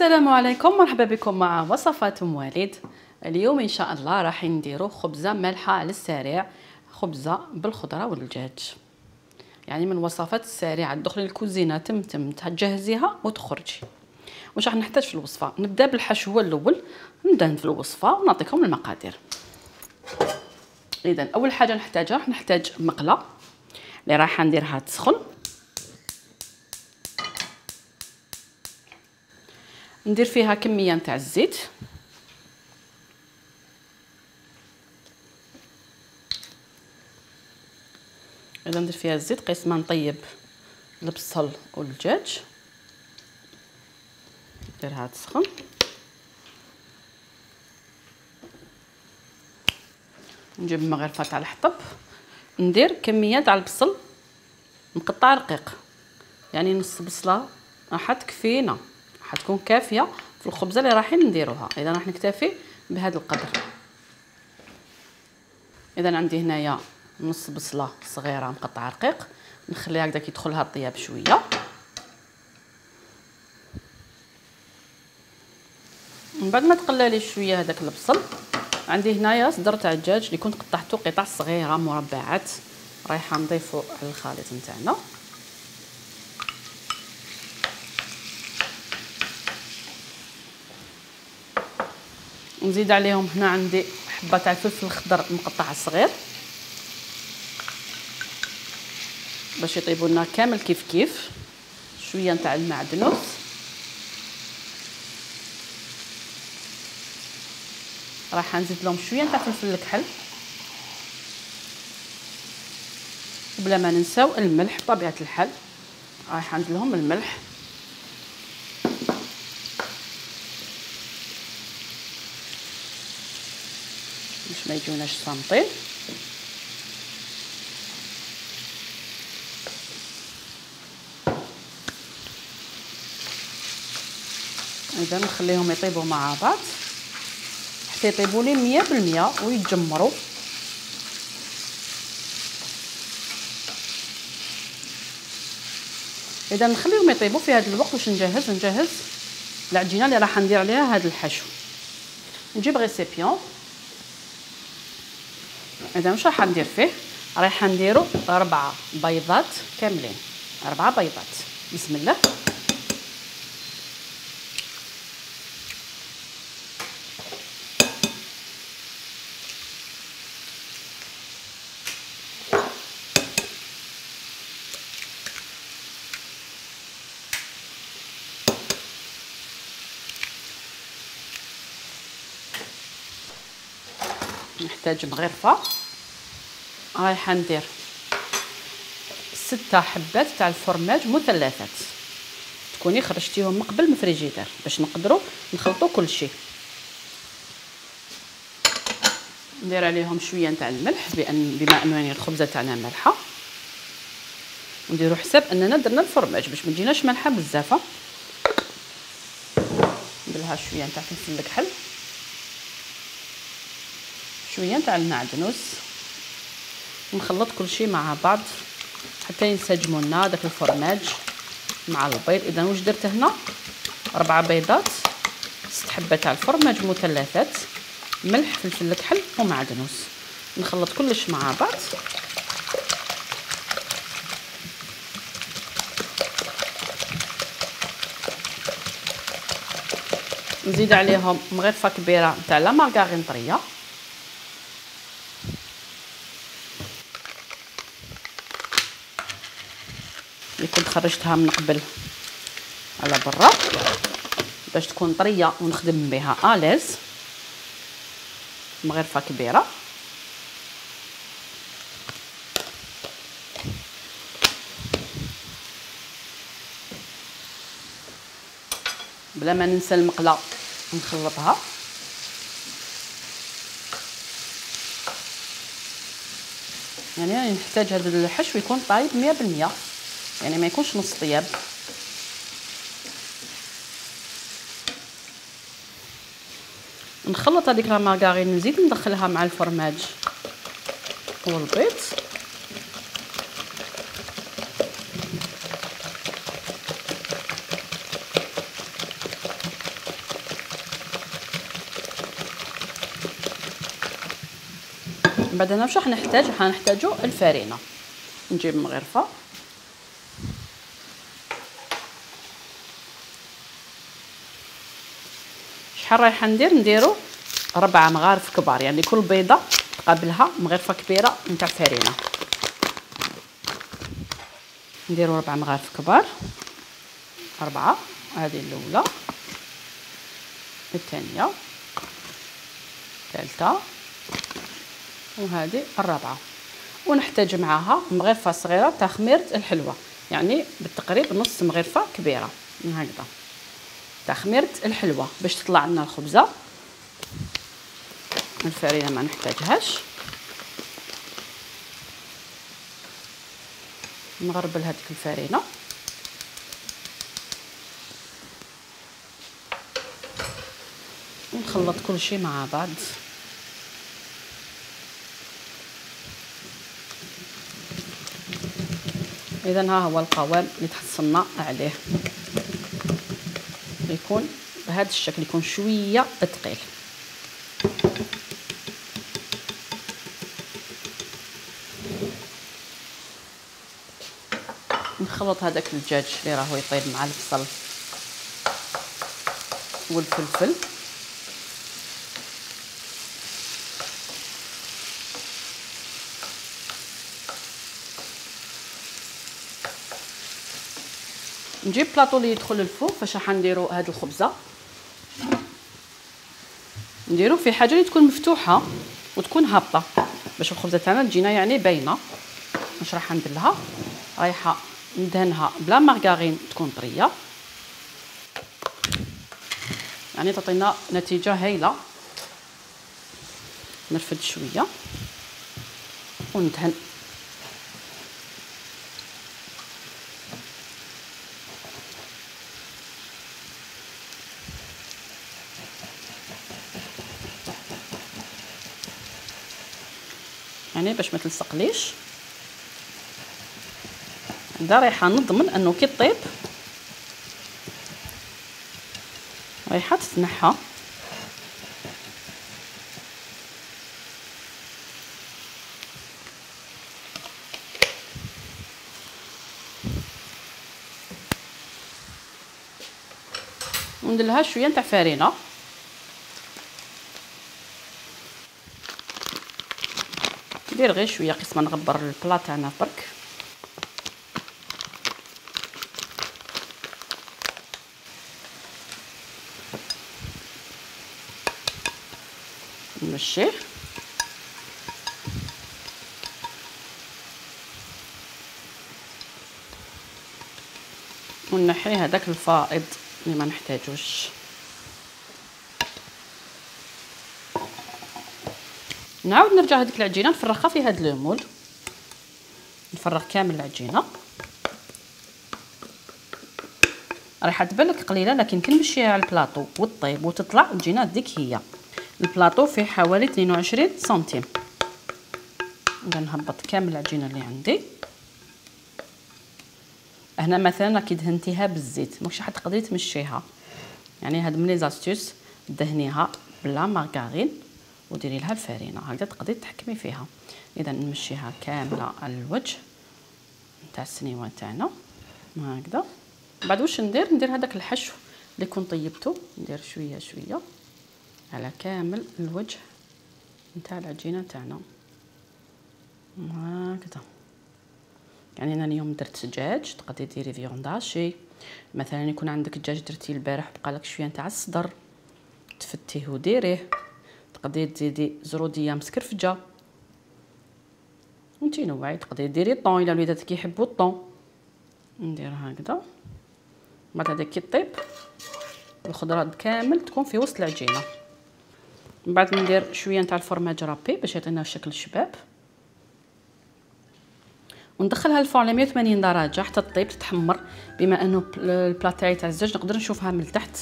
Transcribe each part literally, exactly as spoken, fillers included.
السلام عليكم، مرحبا بكم مع وصفات ام والد. اليوم ان شاء الله راح نديرو خبزه مالحه على السريع، خبزه بالخضره والدجاج، يعني من الوصفات السريعه. تدخلي الكوزينه تم تم تجهزيها وتخرجي. واش راح نحتاج في الوصفه؟ نبدا بالحشو هو الاول، ندهن في الوصفه ونعطيكم المقادير. اذا اول حاجه نحتاجها راح نحتاج مقله اللي راح نديرها تسخن، ندير فيها كميه نتاع الزيت، اذا ندير فيها الزيت قيس ما نطيب البصل والدجاج. نديرها تسخن، نجيب مغرفه تاع الحطب، ندير كميه تاع البصل مقطع رقيق، يعني نص بصله راح تكفينا، راح تكون كافيه في الخبزه اللي رايحين نديروها. اذا راح نكتفي بهذا القدر. اذا عندي هنايا نص بصله صغيره مقطعه رقيق، نخليها هكذا كي يدخلها الطياب شويه. من بعد ما تقلالي شويه هذاك البصل، عندي هنايا صدر تاع الدجاج اللي كنت قطعته قطع صغيره مربعات، رايحه نضيفو على الخليط نتاعنا. نزيد عليهم هنا عندي حبه تاع الفلفل الخضر مقطع صغير باش يطيبوا لنا كامل كيف كيف. شويه نتاع المعدنوس، راح نزيد لهم شويه نتاع فلفل الكحل، بلا ما ننساو الملح بطبيعه الحال. راح ندير لهم الملح، باش ما يجوناش صامطين. اذا نخليهم يطيبوا مع بعض حتى يطيبوا لي مية بالمية ويتجمروا. اذا نخليهم يطيبوا في هذا الوقت. واش نجهز؟ نجهز العجينه اللي راح ندير عليها هذا الحشو. نجيب ريسيبيون. اذا واش راح ندير فيه؟ راح نديرو أربعة بيضات كاملين، أربعة بيضات. بسم الله. نحتاج مغرفه، رايحه ندير ستة حبات تاع الفرماج مثلثات، تكوني خرجتيهم من قبل من الفريجيدير باش نقدروا نخلطوا كل شيء. ندير عليهم شويه نتاع الملح بان بما انه الخبزه تاعنا مالحه، نديروا حساب اننا درنا الفرماج باش ما تجيناش مالحه بزاف. ندير لها شويه نتاع فلفل الكحل، شويه نتاع المعدنوس، ونخلط كل شيء مع بعض حتى ينسجموا لنا داك الفرماج مع البيض. اذا واش درت هنا؟ اربعه بيضات، ست حبات تاع الفرماج مثلثات، ملح، فلفل الكحل ومعدنوس. نخلط كلش مع بعض. نزيد عليهم مغرفه كبيره نتاع لا مارغرين طريه، اللي كنت خرجتها من قبل على برا باش تكون طريه ونخدم بها اليز. مغرفه كبيره. بلا ما ننسى المقله نخلطها. يعني نحتاج هذا الحشو يكون طايب مية بالمية، يعني ما يكونش نص طياب. نخلط هذيك لا مارغرين، نزيد ندخلها مع الفرماج والبيض. من بعد هنا واش راح نحتاج؟ راح نحتاجو الفرينه. نجيب مغرفه شحال رايحه ندير؟ نديرو ربعة مغارف كبار، يعني كل بيضه تقابلها مغرفه كبيره نتاع فرينه. نديرو ربعة مغارف كبار، أربعة، هذه الأولى، الثانية، الثالثة، وهذه الرابعة. ونحتاج معاها مغرفة صغيرة تاع خميرة الحلوى، يعني بالتقريب نص مغرفة كبيرة من هكذا تاع خميرة الحلوى باش تطلع لنا الخبزة. الفرينة ما نحتاجهاش. نغربل هذيك الفرينة ونخلط كل شيء مع بعض. اذا ها هو القوام اللي تحصلنا عليه، يكون بهذا الشكل، يكون شويه ثقيل. نخلط هذاك الدجاج اللي راهو يطيب مع البصل والفلفل. نجيب بلاطو اللي يدخل للفوق. فاش راح نديرو هاد الخبزه؟ نديرو في حاجه اللي تكون مفتوحه وتكون هابطه باش الخبزه تاعنا تجينا يعني باينه. واش راح ندير لها؟ رايحه ندهنها بلا مارغارين تكون طريه، يعني تعطينا نتيجه هايله. نرفد شويه وندهن. يعني باش ما تلصقليش. هذا رايحه نضمن انه كي طيب رايحه تتنحى. وندير لها شويه نتاع فرينه. ندير غير شويه قسم ما نغبر البلا تاعنا برك. نمشيه ونحي هذاك الفائض اللي ما نحتاجوش. نعاود نرجع هذيك العجينه نفرغها في هذا المول. نفرغ كامل العجينه. راح تبان لك قليله لكن كي نمشيها على البلاطو وطيب وتطلع تجينا ديك هي. البلاطو فيه حوالي اثنين وعشرين سنتيم. نبدا نهبط كامل العجينه اللي عندي. هنا مثلا كي دهنتيها بالزيت ماكش راح تقدري تمشيها، يعني هاد من لي زاستوس دهنيها بلا مارغارين وديري لها الفرينه هكذا تقدري تحكمي فيها. اذا نمشيها كامله على الوجه نتاع السنيوه تاعنا هكذا. بعد واش ندير؟ ندير هذاك الحشو اللي كنت طيبته، ندير شويه شويه على كامل الوجه نتاع العجينه تاعنا هكذا. يعني انا اليوم درت دجاج، تقدري ديري فيونداشي مثلا. يكون عندك دجاج درتيه البارح بقالك شويه نتاع الصدر تفتيه وديريه. تقدري تزيدي زروديه مسكرفجه وانتي نوعي. تقدري ديري طون الا وليداتك كيحبوا الطون. ندير هكذا. بعد هذا كي طيب الخضره كامل تكون في وسط العجينه. من بعد ندير شويه نتاع الفرماج رابي باش يعطينا شكل شباب، وندخلها الفرن على مية وثمانين درجه حتى تطيب تتحمر. بما انه البلا تاعي تاع الزاج نقدر نشوفها من التحت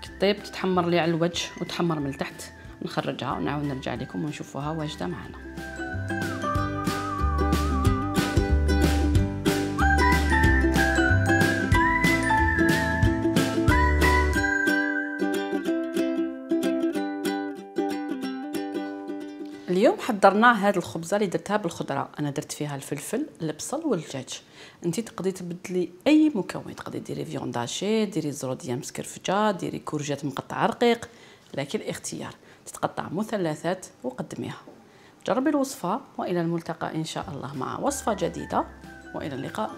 كي طيب تتحمر لي على الوجه وتحمر من التحت. نخرجها ونعاود نرجع لكم ونشوفوها واجده معنا. اليوم حضرنا هاد الخبزه اللي درتها بالخضره. انا درت فيها الفلفل البصل والدجاج. انت تقدري تبدلي اي مكون، تقدري ديري فيونداشي، ديري زروديه مسكرفجه، ديري كورجات مقطعه رقيق، لكن الاختيار. تتقطع مثلثات وقدميها. جربي الوصفه والى الملتقى ان شاء الله مع وصفه جديده، والى اللقاء.